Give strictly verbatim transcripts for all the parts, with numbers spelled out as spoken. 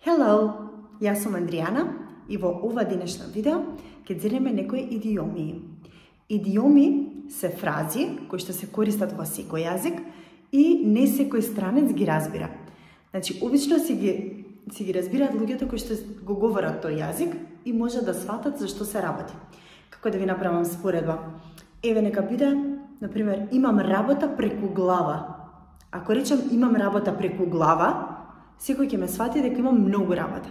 Hello, јас сум Андријана и во ова денешно видео ќе зеднеме некои идиоми. Идиоми се фрази кои што се користат во секој јазик и не секој странец ги разбира. Значи, обично си ги, си ги разбираат луѓето кои што го говорат тој јазик и може да сватат за што се работи. Како да ви направам споредба? Еве нека биде, например, имам работа преку глава. Ако речам имам работа преку глава, секој ќе ме свати дека имам многу работа.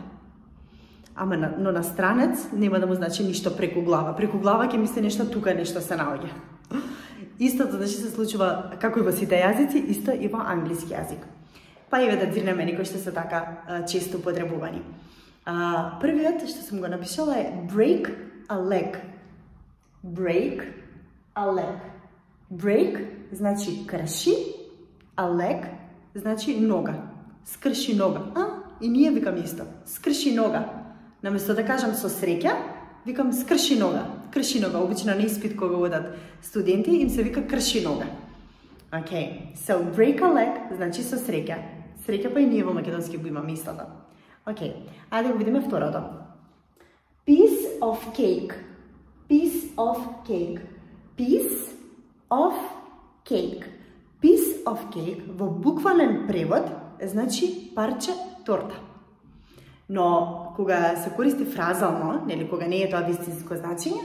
Ама на, но на странец нема да му значи ништо преку глава. Преку глава ќе мисли нешто тука, нешто се наоѓа. Истото значи се случува како и во сите јазици, исто и во англиски јазик. Па еве да дзирнеме некои што се така а, често употребувани. А, првиот што сум го напишала е break a leg. Break a leg. Break значи крши, a leg значи нога. Скрши нога. А, и ние викам исто. Скрши нога. Наместо да кажам со среќа, викам скрши нога. Крши нога. Обично на испит кога одат студенти, им се вика крши нога. Okay. So, break a leg значи со среќа. Среќа па и ние во македонски го имаме истото. Okay. Ајде да го видиме второто. Piece of cake. Piece of cake. Piece of cake. Piece of cake во буквален превод значи парче торта. Но кога се користи фразално, нели кога не е тоа вистинско значење,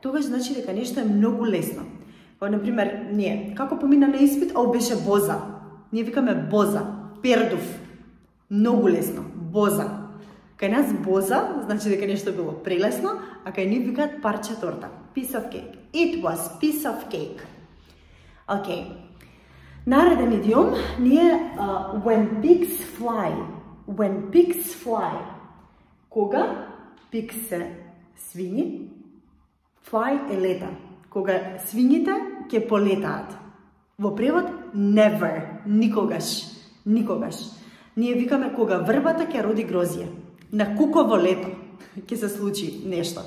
тогаш значи дека нешто е многу лесно. Во например, ние како помина на испит, а беше боза. Ние викаме боза, пердув. Многу лесно, боза. Кај нас боза значи дека нешто било прелесно, а кај нив викаат парче торта. Piece of cake. It was piece of cake. Okay. Нареден идиом ние uh, when pigs fly. When pigs fly. Кога pigs се свињи, fly е лета. Кога свињите ќе полетаат. Во превод never, никогаш, никогаш. Ние викаме кога врбата ќе роди грозје. На куково лето ќе се случи нешто.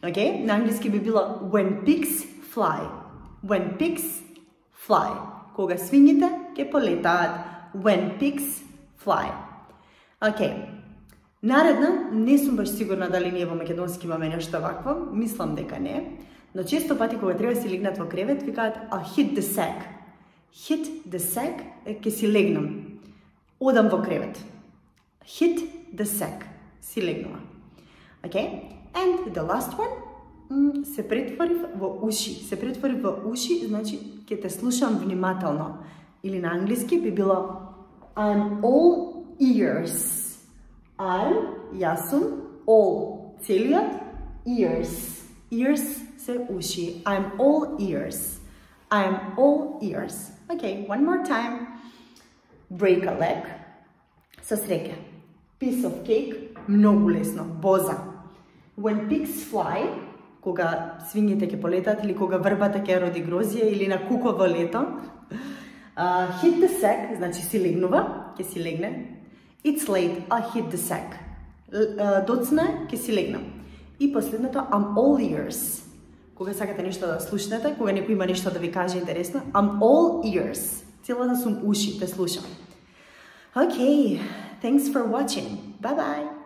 Okay? На англиски би било when pigs fly. When pigs fly. Кога свињите ќе полетаат. When pigs fly. Океј. Наредна, не сум баш сигурна дали ние во македонски имаме нешто вакво, мислам дека не, но често пати кога треба да си легнат во кревет, викаат I'll hit the sack. Hit the sack е ке си легнам. Одам во кревет. Hit the sack. Си легнува. Okay? And the last one, се претворив во уши. Се претворив во уши, значи ќе те слушам внимателно. Или на англиски би било I'm all ears. I'm, јас сум, all, целиот, ears. Ears се уши. I'm all ears. I'm all ears. Okay, one more time. Break a leg. Со среќа. Piece of cake. Многу лесно. Боза. When pigs fly, кога свињите ќе полетат или кога врбата ќе роди грозје или на куково лето. Uh, hit the sack, значи си легнува, ќе си легне. It's late, I'll hit the sack. Uh, доцна е, ќе си легнам. И последното, I'm all ears. Кога сакате нешто да слушнете, кога некој има нешто да ви каже интересно, I'm all ears. Целата сум уши, те слушам. Okay, thanks for watching. Bye bye.